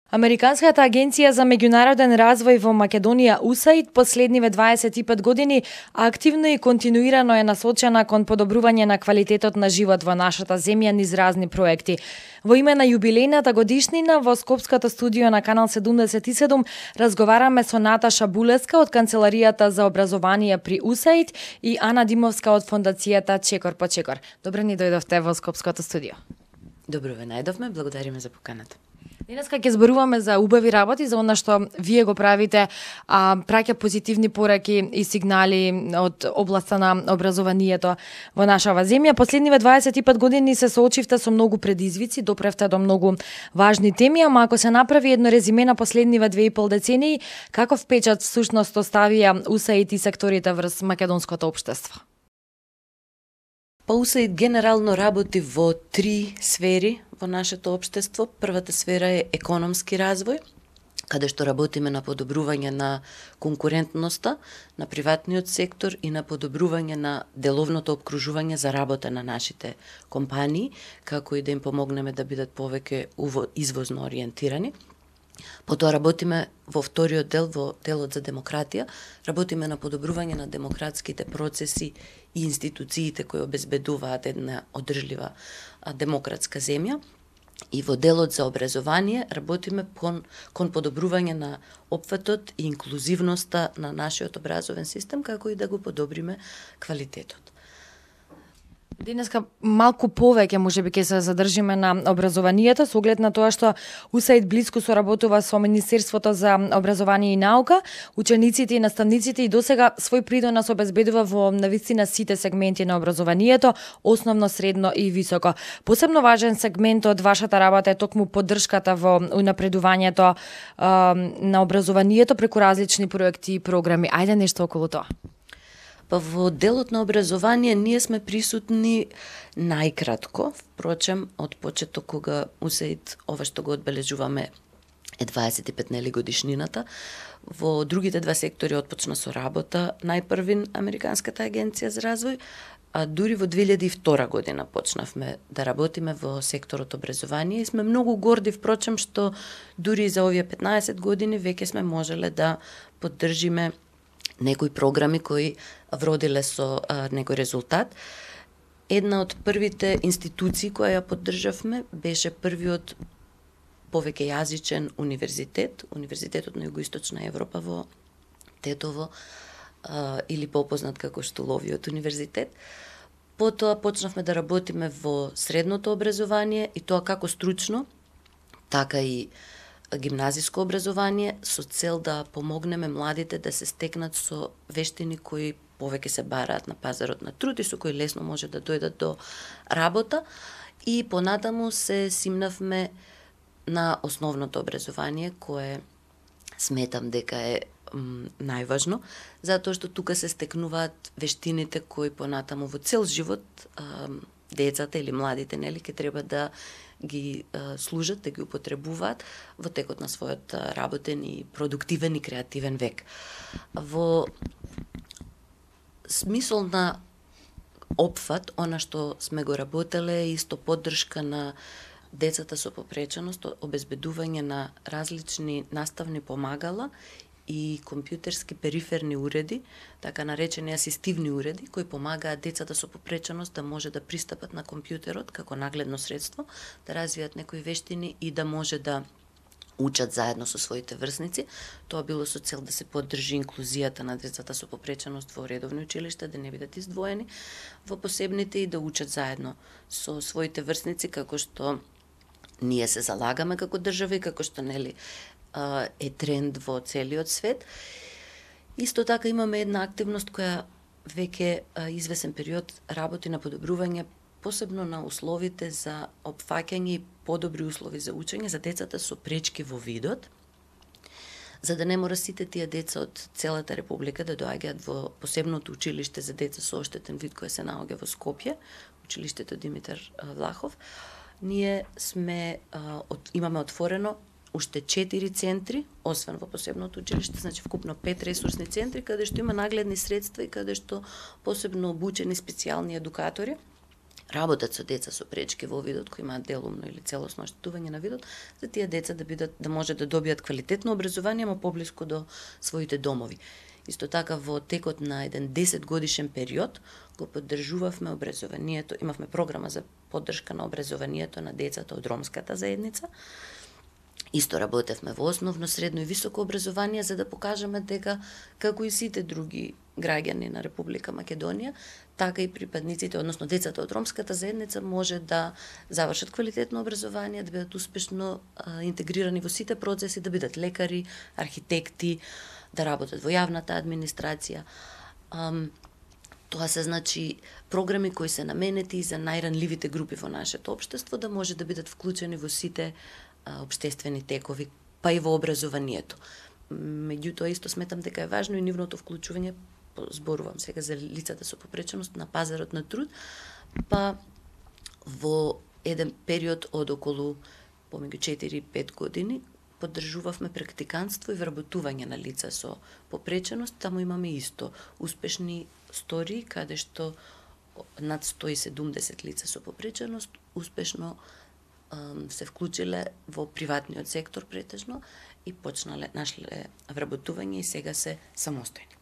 Американската агенција за меѓународен развој во Македонија USAID последниве 25 години активно и континуирано е насочена кон подобрување на квалитетот на живот во нашата земја низ разни проекти. Во име на јубилејната годишнина во Скопското студио на Канал 77 разговараме со Наташа Булеска од Канцеларијата за образование при USAID и Ана Димовска од фондацијата Чекор по Чекор. Добро ни дојдовте во Скопското студио. Добро ве најдовме, благодариме за поканата. Денеска ќе зборуваме за убави работи, за она што вие го правите, праќа позитивни пораки и сигнали од областа на образованието во нашава земја. Последниве 25 години се соочивте со многу предизвици, допревте до многу важни теми, ама ако се направи едно резиме на последниве 2,5 децении, каков печат всушност оставија USAID и секторите врз македонското општество? USAID генерално работи во 3 сфери во нашето општество. Првата сфера е економски развој, каде што работиме на подобрување на конкурентноста на приватниот сектор и на подобрување на деловното обкружување за работа на нашите компании, како и да им помогнеме да бидат повеќе извозно ориентирани. Потоа работиме во вториот дел, во делот за демократија, работиме на подобрување на демократските процеси и институциите кои обезбедуваат една одржлива демократска земја. И во делот за образование работиме кон подобрување на опфатот и инклузивноста на нашиот образовен систем, како и да го подобриме квалитетот. Денеска малку повеќе можеби ќе се задржиме на образованието со оглед на тоа што USAID блиску соработува со Министерството за образование и наука, учениците и наставниците и досега свој придонес обезбедува во навистина сите сегменти на образованието, основно, средно и високо. Посебно важен сегмент од вашата работа е токму поддршката во унапредувањето на образованието преку различни проекти и програми. Ајде нешто околу тоа. Во делот на образование ние сме присутни најкратко, впрочем, од почеток кога USAID, ова што го одбележуваме, е 25 годишнината. Во другите два сектори отпочна со работа најпрвин Американската агенција за развој, а дури во 2002 година почнавме да работиме во секторот образование и сме многу горди, впрочем, што дури за овие 15 години веќе сме можеле да поддржиме некои програми кои вродиле со некој резултат. Една од првите институции која ја поддржавме беше првиот повеќе јазичен универзитет, Универзитетот на Југоисточна Европа во Тетово, или попознат како Штуловиот универзитет. Потоа почнавме да работиме во средното образование и тоа како стручно, така и гимназиско образование со цел да помогнеме младите да се стекнат со вештини кои повеќе се бараат на пазарот на труд и со кои лесно може да дојдат до работа, и понатаму се симнавме на основното образование, кое сметам дека е најважно, затоа што тука се стекнуваат вештините кои понатаму во цел живот децата или младите ќе треба да ги служат, да ги употребуваат во текот на својот работен и продуктивен и креативен век. Во смисол на опфат, она што сме го работеле е исто поддршка на децата со попреченост, обезбедување на различни наставни помагала и компјутерски периферни уреди, така наречени асистивни уреди, кои помагаат децата со попреченост да може да пристапат на компјутерот како нагледно средство, да развијат некои вештини и да може да учат заедно со своите врсници. Тоа било со цел да се поддржи инклузијата на децата со попреченост во редовни училишта, да не бидат издвоени во посебните и да учат заедно со своите врсници, како што ние се залагаме како држава и како што е тренд во целиот свет. Исто така имаме една активност која веќе извесен период работи на подобрување посебно на условите за опфаќање и подобри услови за учење за децата со пречки во видот, за да не мора сите тие деца од целата република да доаѓаат во посебното училиште за деца со оштетен вид кое се наоѓа во Скопје, училиштето Димитар Влахов. Ние имаме отворено уште 4 центри, освен во посебното училиште, значи вкупно 5 ресурсни центри, каде што има нагледни средства и каде што посебно обучени специјални едукатори работат со деца со пречки во видот, кои имаат делумно или целосно оштетување на видот, за тие деца да може да добијат квалитетно образование, но поблиску до своите домови. Исто така во текот на еден 10 годишен период го поддржувавме образованието, имавме програма за поддршка на образованието на децата од ромската заедница. Исто работевме во основно, средно и високо образование за да покажеме дека како и сите други граѓани на Република Македонија, така и припадниците, односно децата од ромската заедница може да завршат квалитетно образование, да бидат успешно интегрирани во сите процеси, да бидат лекари, архитекти, да работат во јавната администрација. Тоа се значи програми кои се наменети за најранливите групи во нашето општество, да може да бидат вклучени во сите општествени текови, па и во образованието. Меѓутоа, исто сметам дека е важно и нивното вклучување, зборувам сега за лицата со попреченост, на пазарот на труд, па во еден период од околу помеѓу 4-5 години поддржувавме практиканство и вработување на лица со попреченост. Таму имаме исто успешни истории каде што над 170 лица со попреченост успешно се вклучиле во приватниот сектор претежно и нашле вработување и сега се самостојни.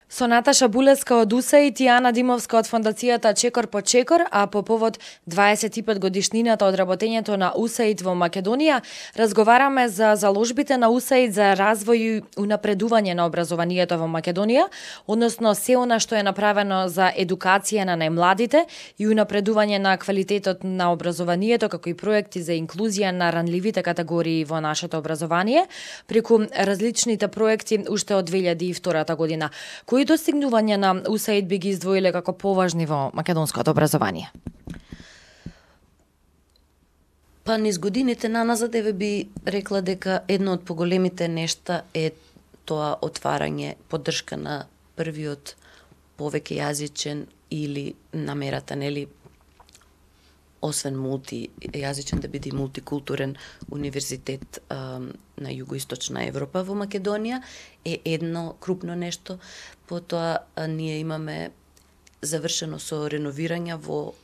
Со Наташа Булевска од УСАИД и Ана Димовска од фондацијата Чекор по Чекор, а по повод 25 годишнината од работењето на УСАИД во Македонија, разговараме за заложбите на УСАИД за развој и унапредување на образованието во Македонија, односно се она што е направено за едукација на најмладите и унапредување на квалитетот на образованието, како и проекти за инклузија на ранливите категории во нашето образование, преку различните проекти уште од 2002 година. Кои достигнувања на УСАИД би ги издвоиле како поважни во македонското образование? Па низ годините наназад еве би рекла дека едно од поголемите нешта е тоа отварање, поддршка на првиот повеќе јазичен или намерата, нели, освен мултијазичен да биде мултикултурен универзитет на југоисточна Европа во Македонија е едно крупно нешто. Потоа ние имаме завршено со реновирање во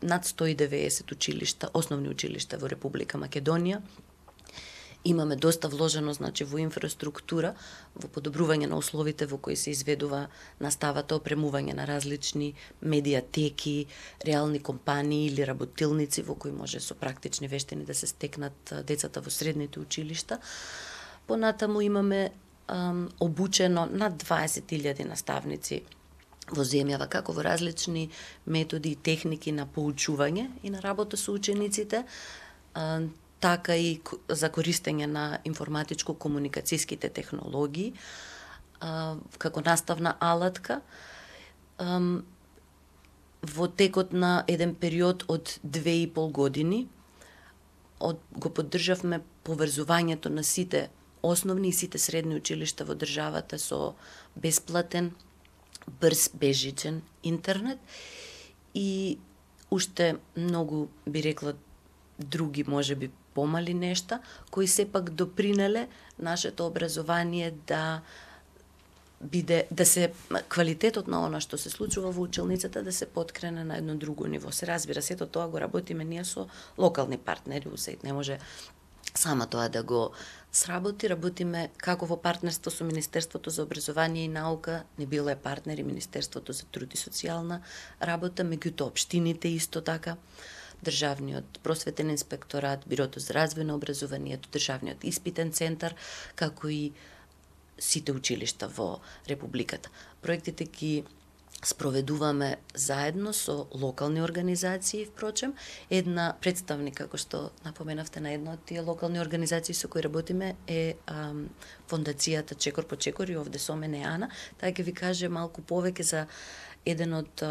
над 190 училишта, основни училишта во Република Македонија. Имаме доста вложено, значи, во инфраструктура, во подобрување на условите во кои се изведува наставата, опремување на различни медиатеки, реални компании или работилници во кои може со практични вештини да се стекнат децата во средните училишта. Понатаму имаме обучено над 20.000 наставници во земјава, како во различни методи и техники на поучување и на работа со учениците, така и за користење на информатичко-комуникацијските технологии како наставна алатка. Во текот на еден период од 2,5 години го поддржавме поврзувањето на сите основни и сите средни училишта во државата со бесплатен, брз, бежичен интернет и уште многу, би рекла, други можеби помали нешта, кои сепак допринеле нашето образование да се квалитетот на она што се случува во училницата да се подкрене на едно друго ниво. Се разбира, сето тоа го работиме ние со локални партнери, УСАИД не може сама тоа да го сработи. Работиме како во партнерство со Министерството за образование и наука, не било е партнери Министерството за труд и социјална работа, меѓутоа општините исто така, Државниот просветен инспекторат, Бирото за развој на образованието, Државниот испитен центар, како и сите училишта во Републиката. Проектите ги спроведуваме заедно со локални организации, впрочем. Една представник, како што напоменавте, на една од тие локални организации со кои работиме е фондацијата Чекор по Чекор и овде со мене Ана. Таа ќе ви каже малку повеќе за еден од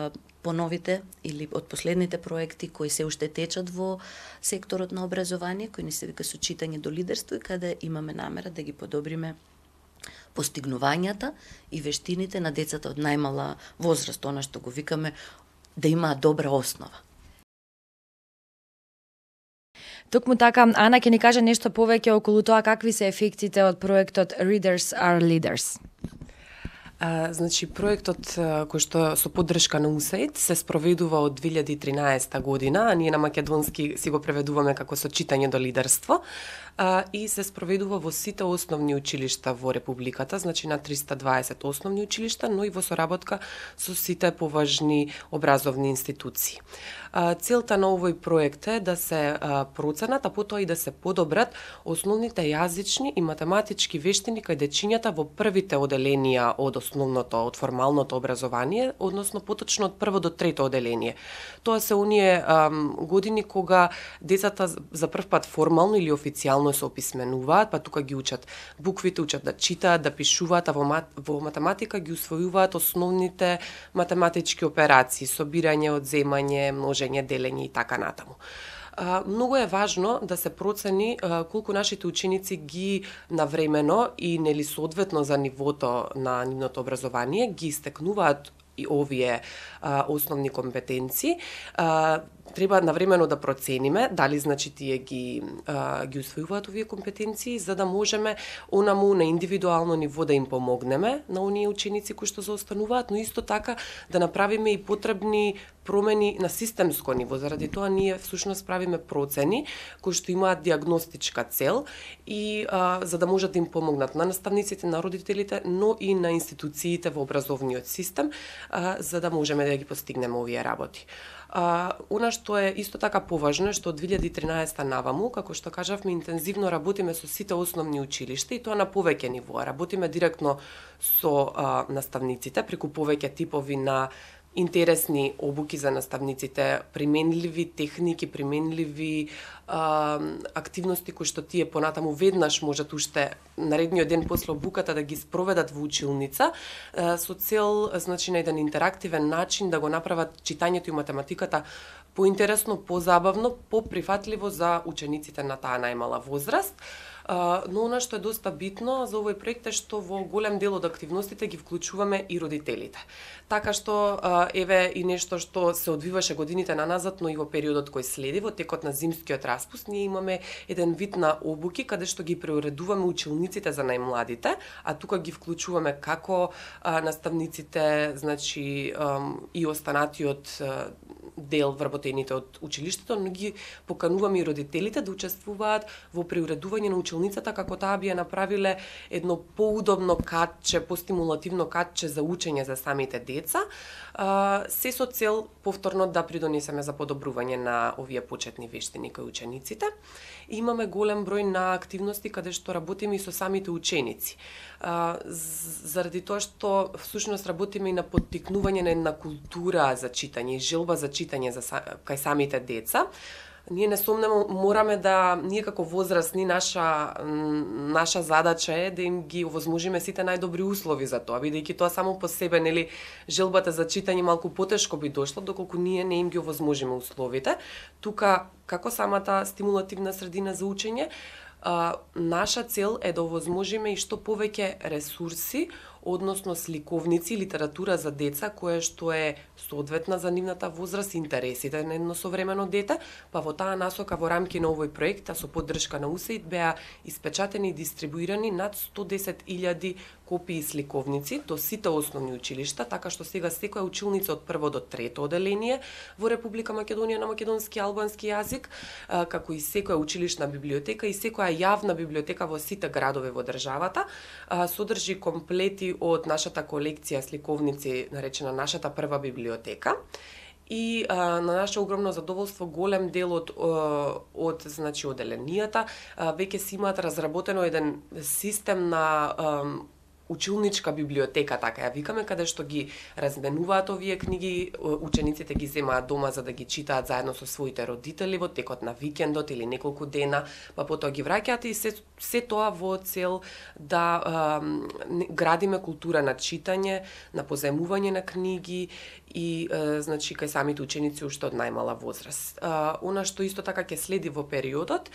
поновите или од последните проекти кои се уште течат во секторот на образование, кои ни се вика со читање до лидерство и каде имаме намера да ги подобриме постигнувањата и вештините на децата од најмала возраст, она што го викаме да имаат добра основа. Токму така, Ана ќе ни каже нешто повеќе околу тоа какви се ефектите од проектот Readers are Leaders. Значи, проектот кој што со поддршка на USAID се спроведува од 2013 година, а ние на македонски си го преведуваме како со читање до лидерство, и се спроведува во сите основни училишта во Републиката, значи на 320 основни училишта, но и во соработка со сите поважни образовни институции. Целта на овој проект е да се проценат, а потоа и да се подобрат основните јазични и математички вештини кај дечињата во првите оделенија од основното, од формалното образование, односно поточно од прво до трето оделение. Тоа се оние години кога децата за прв пат формално или официјално се описменуваат, па тука ги учат буквите, учат да читаат, да пишуваат, а во математика ги усвојуваат основните математички операции, собирање, одземање, множење, делење и така натаму. Многу е важно да се процени колку нашите ученици ги навремено и нели соодветно за нивото на нивното образование ги истекнуваат и овие основни компетенции. Треба навремено да процениме дали значи тие ги усвојуваат овие компетенции, за да можеме онаму на индивидуално ниво да им помогнеме на оние ученици кои што заостануваат, но исто така да направиме и потребни промени на системско ниво. Заради тоа ние всушност правиме процени кои што имаат диагностичка цел и за да можат да им помогнат на наставниците, на родителите, но и на институциите во образовниот систем, за да можеме да ги постигнеме овие работи. Она што е исто така поважно е што од 2013 наваму, како што кажавме, интензивно работиме со сите основни училишта и тоа на повеќе нивоа. Работиме директно со наставниците преку повеќе типови на интересни обуки за наставниците, применливи техники, применливи активности кои што тие понатаму веднаш можат уште наредниот ден после обуката да ги спроведат во училница со цел, значи, на еден интерактивен начин да го направат читањето и математиката поинтересно, позабавно, поприфатливо за учениците на таа најмала возраст. Но она што е доста битно за овој проект е што во голем дел од активностите ги вклучуваме и родителите. Така што еве и нешто што се одвиваше годините наназад, но и во периодот кој следи, во текот на зимскиот распуст, ние имаме еден вид на обуки каде што ги преуредуваме училниците за најмладите, а тука ги вклучуваме како наставниците, значи и останатиот дел вработените од училиштето, но ги покануваме и родителите да учествуваат во преуредување на училницата како таа би ја направиле едно поудобно катче, постимулативно катче за учење за самите деца, се со цел повторно да придонесеме за подобрување на овие почетни вештини кај учениците. Имаме голем број на активности каде што работиме и со самите ученици. Заради тоа што всушност работиме и на поттикнување на една култура за читање и желба за читање кај самите деца. Ние несомнено мораме да, ние како возрастни, наша задача е да им ги овозможиме сите најдобри услови за тоа, бидејќи тоа само по себе, нели, желбата за читање малку потешко би дошло, доколку ние не им ги овозможиме условите. Тука, како самата стимулативна средина за учење, наша цел е да овозможиме и што повеќе ресурси, односно сликовници и литература за деца, која што е соодветна за нивната возраст и интересите на едно современо дете, па во таа насока во рамки на овој проект, а со поддршка на USAID, беа испечатени и дистрибуирани над 110.000 копии сликовници до сите основни училишта, така што сега секоја училница од прво до трето оделение во Република Македонија на македонски и албански јазик, како и секоја училишна библиотека и секоја јавна библиотека во сите градови во државата, содржи комплети од нашата колекција сликовници, наречена нашата прва библиотека. И на наше огромно задоволство голем дел од значи оделенијата веќе си имаат разработено еден систем на училничка библиотека, така ја викаме, каде што ги разменуваат овие книги, учениците ги земаат дома за да ги читаат заедно со своите родители во текот на викендот или неколку дена, па потоа ги враќаат и се тоа во цел да градиме култура на читање, на позајмување на книги и значи кај самите ученици уште од најмала возраст. Она што исто така ќе следи во периодот,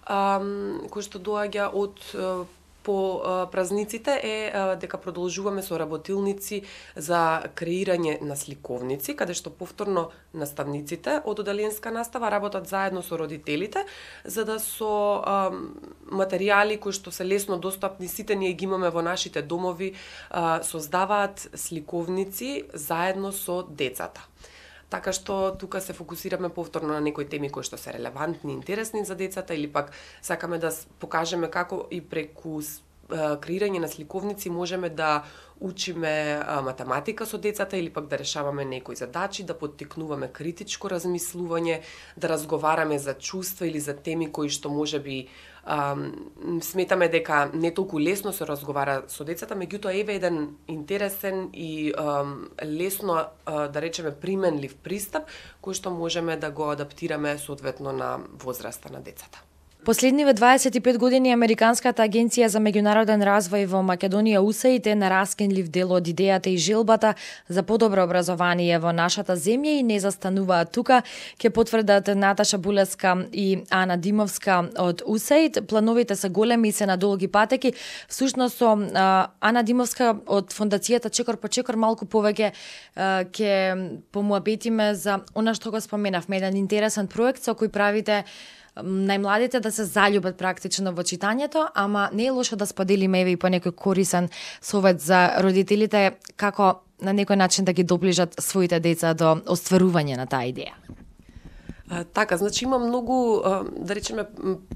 кој што доаѓа од по празниците е дека продолжуваме со работилници за креирање на сликовници, каде што повторно наставниците од одаленска настава работат заедно со родителите, за да со материјали кои што се лесно достапни, сите ние ги имаме во нашите домови, создаваат сликовници заедно со децата. Така што тука се фокусираме повторно на некои теми кои што се релевантни, интересни за децата, или пак сакаме да покажеме како и преку креирање на сликовници можеме да учиме математика со децата, или пак да решаваме некои задачи, да поттикнуваме критичко размислување, да разговараме за чувства или за теми кои што можеби сметаме дека не толку лесно се разговара со децата, меѓутоа еве еден интересен и лесно, да речеме, применлив пристап, кој што можеме да го адаптираме соодветно на возраста на децата. Последниве 25 години Американската агенција за меѓународен развој во Македонија USAID е на раскинлив дел од идејата и желбата за подобро образование во нашата земја и не застануваат тука, ќе потврдат Наташа Булевска и Ана Димовска од USAID. Плановите се големи и се на долги патеки. Всушност со Ана Димовска од фондацијата Чекор по чекор малку повеќе ќе помуабетиме за она што го споменавме, еден интересен проект со кој правите најмладите да се заљубат практично во читањето, ама не е лошо да споделиме еве и по некој корисен совет за родителите како на некој начин да ги доближат своите деца до остварување на таа идеја. Така, значи има многу, да речеме,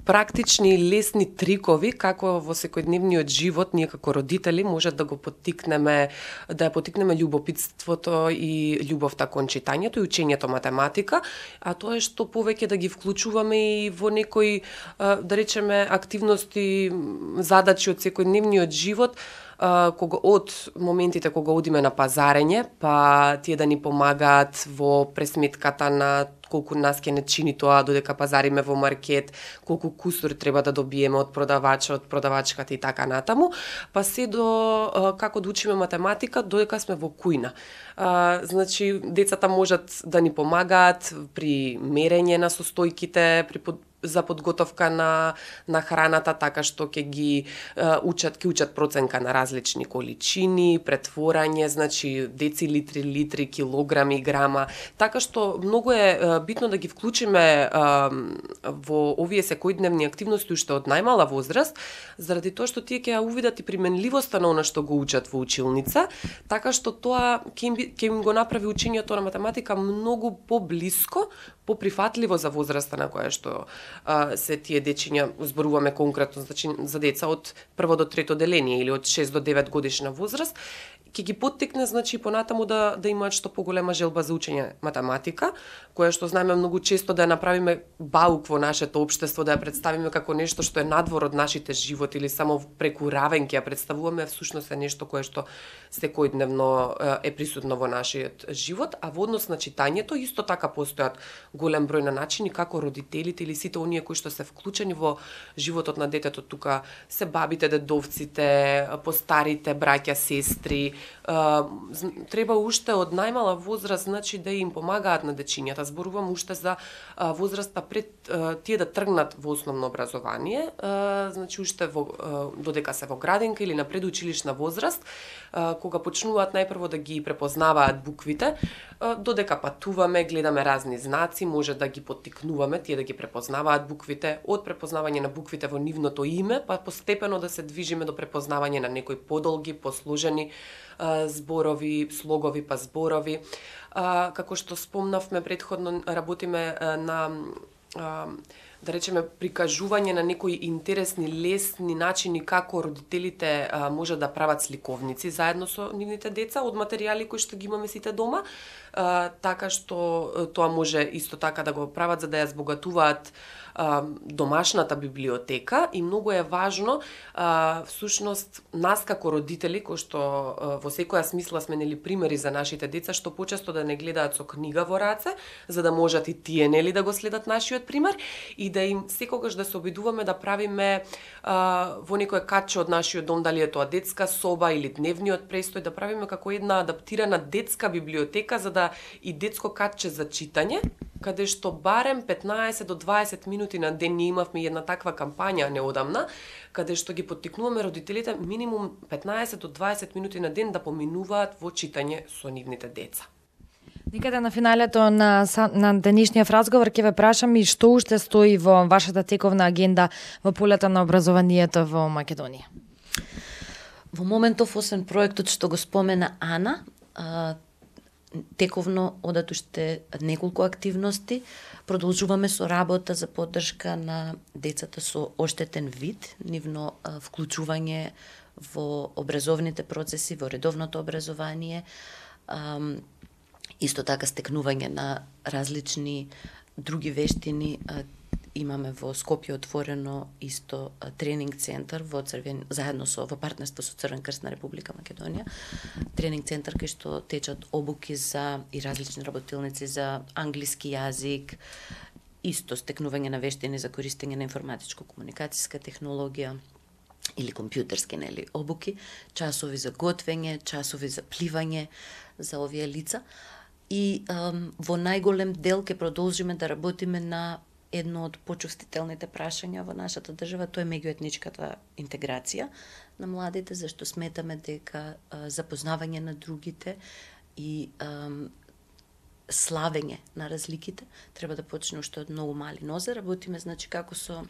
практични и лесни трикови како во секојдневниот живот ние како родители може да го поттикнеме, да ја поттикнеме љубопитството и љубовта кон читањето и учењето математика, а тоа е што повеќе да ги вклучуваме и во некои, да речеме, активности, задачи од секојдневниот живот, од моментите кога одиме на пазарење, па тие да ни помагаат во пресметката на колку нас ќе не чини тоа додека пазариме во маркет, колку кусур треба да добиеме од продавачот, продавачката и така натаму, па се до како да учиме математика додека сме во кујна. Значи, децата можат да ни помагаат при мерење на состојките, за подготовка на храната, така што ќе ги учат проценка на различни количини, претворање, значи децилитри, литри, килограми, грама, така што многу е битно да ги вклучиме во овие секојдневни активности уште од најмала возраст, заради тоа што тие ќе ја увидат и применливоста на она што го учат во училница, така што тоа ќе им го направи учењето на математика многу поблиско, поприфатливо за возраста на која што се тие дечиња, зборуваме конкретно, значи за деца од 1 до 3 деление или од 6 до 9 годишна возраст, ќе ги поттикне, значи, понатаму да имаат што поголема желба за учење математика, која што знаеме многу често да ја направиме баук во нашето општество, да ја представиме како нешто што е надвор од нашите животи или само преку равен ќе ја представуваме, всушност е нешто кое што секојдневно е присутно во нашиот живот, а во однос на читањето исто така постојат голем број на начини како родителите или сите оние кои што се вклучени во животот на детето, тука се бабите, дедовците, постарите браќа, сестри, треба уште од најмала возраст, значи да им помагаат на дечињата. Зборувам уште за возраста пред тие да тргнат во основно образование, значи уште додека се во градинка или на предучилишна возраст, кога почнуваат најпрво да ги препознаваат буквите, додека патуваме, гледаме разни знаци, може да ги поттикнуваме тие да ги препознаваат буквите, од препознавање на буквите во нивното име, па постепено да се движиме до препознавање на некои подолги, посложени зборови, слогови па зборови. Како што спомнавме претходно, работиме на да речеме прикажување на некои интересни, лесни начини како родителите може да прават сликовници заедно со нивните деца од материјали кои што ги имаме сите дома, така што тоа може исто така да го прават за да ја збогатуваат домашната библиотека и многу е важно всушност нас како родители кои што во секоја смисла сме нели примери за нашите деца што почесто да не гледаат со книга во раце за да можат и тие нели да го следат нашиот пример и да им секогаш да се обидуваме да правиме во некое катче од нашиот дом, дали е тоа детска соба или дневниот престој, да правиме како една адаптирана детска библиотека за да и детско катче за читање каде што барем 15 до 20 минути на ден ние имавме една таква кампања неодамна, каде што ги поттикнуваме родителите минимум 15 до 20 минути на ден да поминуваат во читање со нивните деца. Никаде на финалето на денешниот разговор ќе ве прашам и што уште стои во вашата тековна агенда во полето на образованието во Македонија. Во моментов, освен проектот што го спомена Ана, тековно одат уште неколку активности. Продолжуваме со работа за поддршка на децата со оштетен вид, нивно вклучување во образовните процеси, во редовното образование, исто така стекнување на различни други вештини. Имаме во Скопје отворено исто тренинг центар во партнерство со Црвен крст на Република Македонија. Тренинг центар кај што течат обуки за и различни работилници за англиски јазик, исто стекнување на вештини за користење на информатичко-комуникацијска технологија или компјутерски обуки, часови за готвење, часови за пливање за овие лица. И во најголем дел ќе продолжиме да работиме на едно од почувствителните прашања во нашата држава, тоа е меѓуетничката интеграција на младите, зашто сметаме дека запознавање на другите и славење на разликите треба да почне уште од многу мали нозе. Работиме како со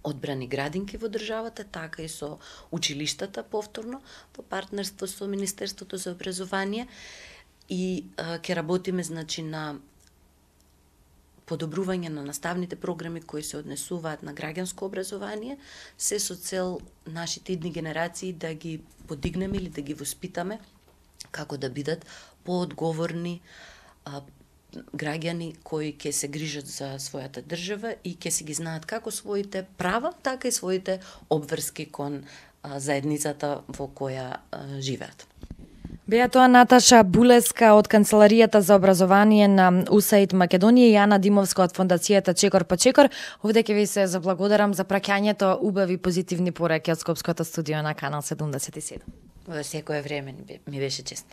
одбрани градинки во државата, така и со училиштата повторно, во партнерство со Министерството за образование, и ќе работиме на подобрување на наставните програми кои се однесуваат на граѓанско образование, се со цел нашите идни генерации да ги подигнеме или да ги воспитаме како да бидат поодговорни граѓани кои ќе се грижат за својата држава и ќе си ги знаат како своите права, така и своите обврски кон заедницата во која живеат. Беа тоа Наташа Булеска од Канцеларијата за образование на УСАИД Македонија и Ана Димовска од Фондацијата Чекор по Чекор. Овде ќе ви се заблагодарам за праќањето убави позитивни пораки од Скопското студио на Канал 77. Во секое време ми беше чест.